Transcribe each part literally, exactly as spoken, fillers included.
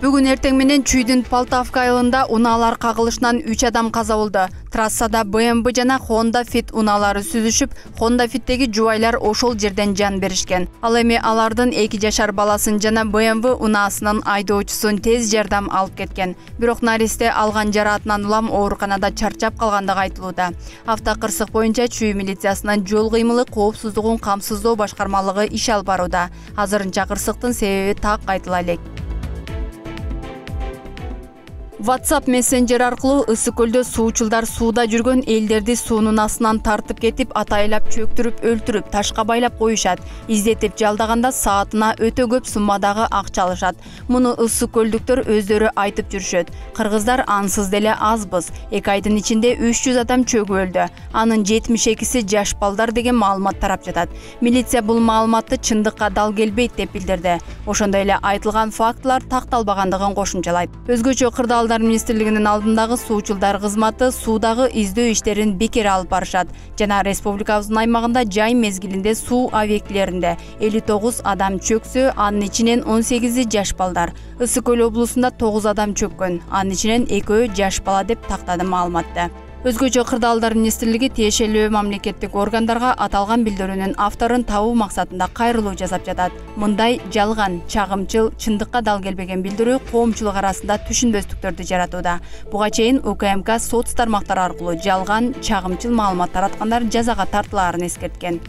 Бүгүн эртең менен Чүйдүн Полтавка айылында унаалар кагылышынан үч адам каза болду. Трассада бэ эм вэ жана Honda Fit унаалары сүзүшүп, Honda Fit'теги жубайлар ошол жерден жан беришкен. Ал эми алардын эки жашар баласын жана бэ эм вэ унаасынын айдоочусун тез жардам алып кеткен. Бирок наристе алган жараатынан улам ооруканада чарчап калгандыгы айтылууда. Автокырсык боюнча Чүй милициясынын жол кыймылы коопсуздугун камсыздоо башкармалыгы иш алып барууда. Азырынча кырсыктын себеби так айтыла элек. WhatsApp мессенджер аркылуу Ысык көлдө суучулдар сууда жүргөн элдерди суунун астынан тартып кетип, атайлап чөктүрүп, өлтүрүп, ташка байлап коюшат. Издетип жалдаганда саатына өтө көп суммадагы акча алышат. Муну ысык көлдүктөр өздөрү айтып жүрүшөт. Кыргыздар ансыз деле азбыз. эки айдын ичинде үч жүз адам чөгүп өлдү. Анын жетимиш экиси жаш балдар деген маалымат тарап жатат. Милиция бул маалыматты чындыкка дал келбейт деп билдирди. Ошондой эле айтылган фактылар такталбагандыгын кошумчалайт. Өзгөчө кырдаал министрлигинин алдындагы суучулдар кызматы суудагы издөө иштерин бекер алып барышат жана республикабыздын аймагында жай мезгилинде суу объектилеринде элүү тогуз адам чөксө, анын ичинен он сегизи жаш балдар. Ысык көл облусунда тогуз адам чөккөн, анын ичинен экөө жаш бала деп тактады маалыматты. Өзгөчө кырдаалдар министрлиги тиешелүү мамлекеттик органдарга аталган билдирүүнүн авторун табуу максатында кайрылуу жасап жатат. Мындай жалган, чагымчыл, чындыкка дал келбеген билдирүү коомчулук арасында түшүнбөстүктөрдү жаратууда. Буга чейин У К М К сот тармактары аркылуу жалган, чагымчыл маалымат тараткандар жазага тартылаарын эскерткен.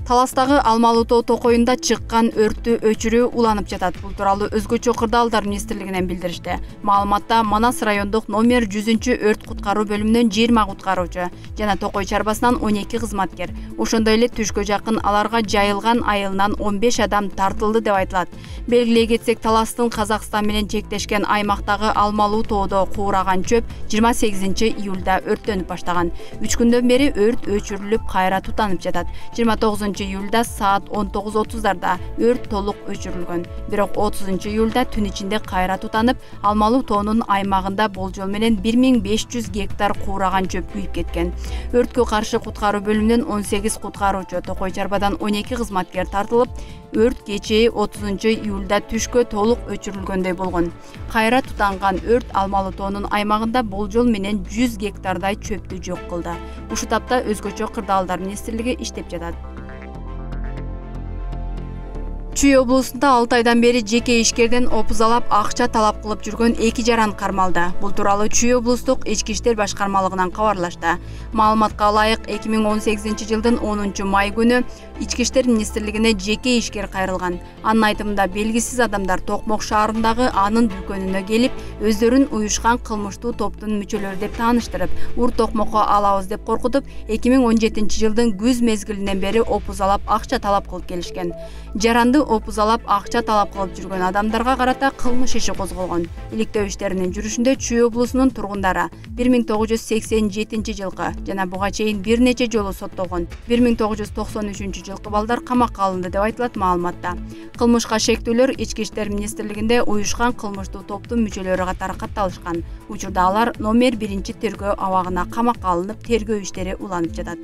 Таластагы Алмалы тоо токоюнда чыккан өрттү өчүрүү уланып жатат. Бул тууралуу өзгөчө кырдаалдар министрлигинен билдиришти. Маалыматта Манас райондук номер жүзүнчү өрт куткаруу бөлүмүнөн жыйырма куткаруучу жана Токой чарбасынан он эки кызматкер, ошондой эле түшкө жакын аларга жайылган айылынан он беш адам тартылды деп айтылат. Белгилей кетсек, Таластын Казакстан менен чектешкен аймактагы Алмалы тоодо куураган чөп жыйырма сегизинчи июлда өрттөнүп баштаган. үч күндөн бери өрт өчүрүлүп, кайра тутанып жатат. жыйырма тогузунчу июлда саат он тогуз отуздарда өрт толук өчүрүлгөн. Бирок отузунчу июлда түн ичинде кайра тутанып, Алмалы тоонун аймагында болжол менен бир миң беш жүз гектар куураган чөп күйүп кеткен. Өрткө каршы куткаруу бөлүмүнөн он сегиз куткаруучу, Токой чарбадан он эки кызматкер тартылып, өрт кечээ отузунчу июлда түшкө толук өчүрүлгөндөй болгон. Кайра тутанган өрт Алмалы тоонун аймагында болжол менен жүз гектардай чөптү жок кылды. Ушул тапта өзгөчө кырдаалдар министрлиги иштеп жатат. Чүй облусунда алты айдан бери жеке ишкерден опузалап акча талап кылып жүргөн эки жаран кармалды. Бул тууралуу Чүй облустук ички иштер башкармалыгынан кабарлашты. Маалыматка ылайык, эки миң он сегизинчи жылдын онунчу май күнү ички иштер министрлигине жеке ишкер кайрылган. Анын айтымында белгисиз адамдар Токмок шаарындагы анын дүкөнүнө келип, өздөрүн уюшкан кылмыштуу топтун мүчөлөрү деп тааныштырып, ур Токмокко алабыз деп коркутуп, эки миң он жетинчи жылдын күз мезгилинен бери опузалап акча талап кылып келишкен. Жаранды опузалап акча талап кылып жүргөн адамдарга карата кылмыш иши козголгон. Иликтөө иштеринин жүрүшүндө Чүй облусунун тургундары бир миң тогуз жүз сексен жетинчи жылкы жана буга чейин бир нече жолу соттолгон. бир миң тогуз жүз токсон үчүнчү жылкы балдар камакка алынды деп айтылат маалыматта. Кылмышка шектүүлөр ички иштер министрлигинде уюшкан кылмыштуу топтун мүчөлөрү катары катталышкан. Учурда алар номер биринчи тергөө абагына камакка алынып, тергөө иштери уланып жатат.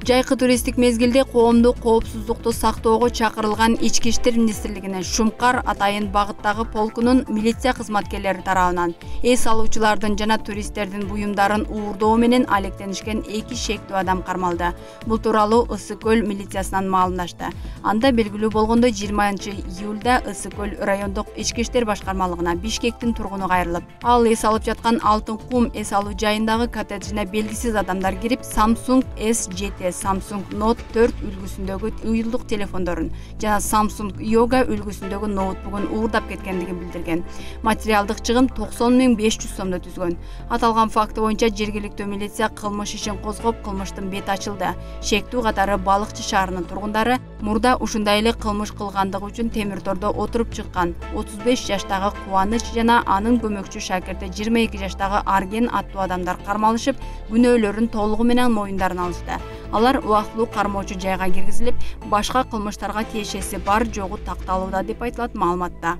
Жайкы туристтик мезгилде коомдук коопсуздукту сактоого чакырылган ички иштер министрлигине Шумкар атайын багыттагы полкунун милиция кызматкерлери тарабынан эс алуучулардын жана туристтердин буюмдарын уурдоо менен алектенишкен эки шектүү адам кармалды. Бул тууралуу Ысык көл милициясынан маалымдашты. Анда белгилүү болгондой жыйырманчы июлда Ысык көл райондук ички иштер башкармалыгына Бишкектин тургуну кайрылып, ал эс алып жаткан Алтын кум эс алуу жайындагы коттеджине белгисиз адамдар кирип, Samsung эс жети, Samsung Note төрт үлгүсүндөгү уюлдук телефондорун жана Samsung Yoga үлгүсүндөгү ноутбугун уурдап кеткендигин билдирген. Материалдык чыгым токсон миң беш жүз сомдо түзгөн. Аталган факты боюнча жергиликтүү милиция кылмыш ишин козгоп, кылмыштын бети ачылды. Шектүү катары Балыкчы шаарынын тургундары мурда ушундай эле кылмыш кылгандыгы үчүн темир тордо отуруп чыккан отуз беш жаштагы Кубаныч жана анын көмөкчү шакирти жыйырма эки жаштагы Арген аттуу адамдар кармалышып, күнөөлөрүн толугу менен моюндарына алышты. Алар убактылуу кармоочу жайга киргизилип, башка кылмыштарга тиешеси бар жогу такталууда деп айтылат маалыматта.